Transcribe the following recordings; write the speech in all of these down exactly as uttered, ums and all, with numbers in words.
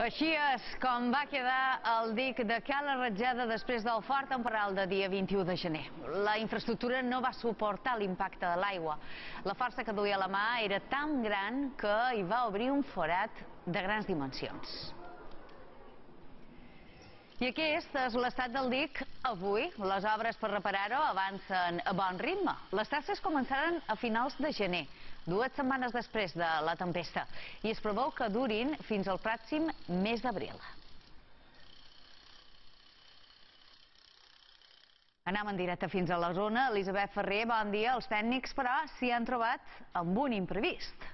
Així és com va quedar el dic de Cala Ratjada després del fort temporal de dia vint-i-u de gener. La infraestructura no va suportar l'impacte de l'aigua. La força que duia a la mà era tan gran que hi va obrir un forat de grans dimensions. I aquest és l'estat del dic avui. Les obres per reparar-ho avancen a bon ritme. Les tasques començaran a finals de gener, dues setmanes després de la tempesta, i es preveu que durin fins al pròxim mes d'abril. Anem en directe fins a la zona. Elisabet Ferrer, bon dia. Els tècnics, però, s'hi han trobat amb un imprevist.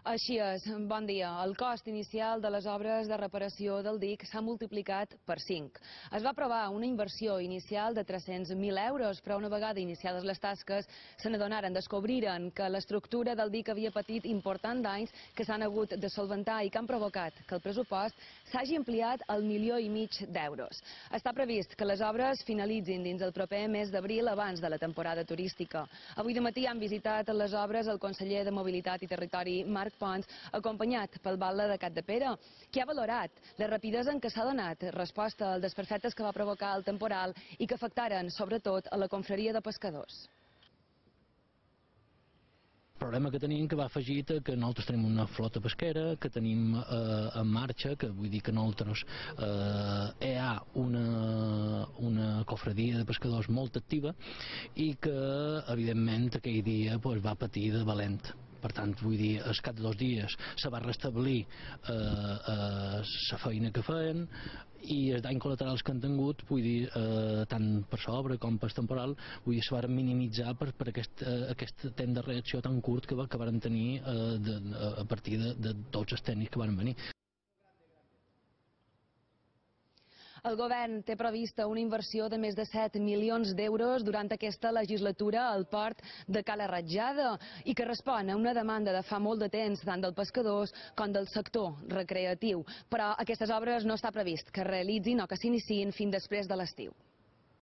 Així és, bon dia. El cost inicial de les obres de reparació del dic s'ha multiplicat per cinc. Es va aprovar una inversió inicial de tres-cents mil euros, però una vegada iniciades les tasques se n'adonaren, descobriren que l'estructura del dic havia patit importants danys que s'han hagut de solventar i que han provocat que el pressupost s'hagi ampliat al milió i mig d'euros. Està previst que les obres finalitzin dins el proper mes d'abril abans de la temporada turística. Avui de matí han visitat les obres el conseller de Mobilitat i Territori, Marc Pons, acompanyat pel batlle de Capdepera, que ha valorat la rapidesa en què s'ha donat resposta als desperfectes que va provocar el temporal i que afectaren sobretot a la confraria de pescadors. El problema que tenim que va afegit que nosaltres tenim una flota pesquera, que tenim eh, en marxa, que vull dir que nosaltres eh, hi ha una, una cofradia de pescadors molt activa i que evidentment aquell dia pues, va patir de valent. Per tant, vull dir, al cap de dos dies se va restablir eh, eh, la feina que feien i els danys col·laterals que han tingut, vull dir, eh, tant per l'obra com per temporal, vull dir, se van minimitzar per, per aquest, eh, aquest temps de reacció tan curt que, que van tenir eh, de, a partir de, de tots els tècnics que van venir. El govern té prevista una inversió de més de set milions d'euros durant aquesta legislatura al port de Cala Ratjada i que respon a una demanda de fa molt de temps tant dels pescadors com del sector recreatiu. Però aquestes obres no està previst que es realitzin o que s'iniciïn fins després de l'estiu.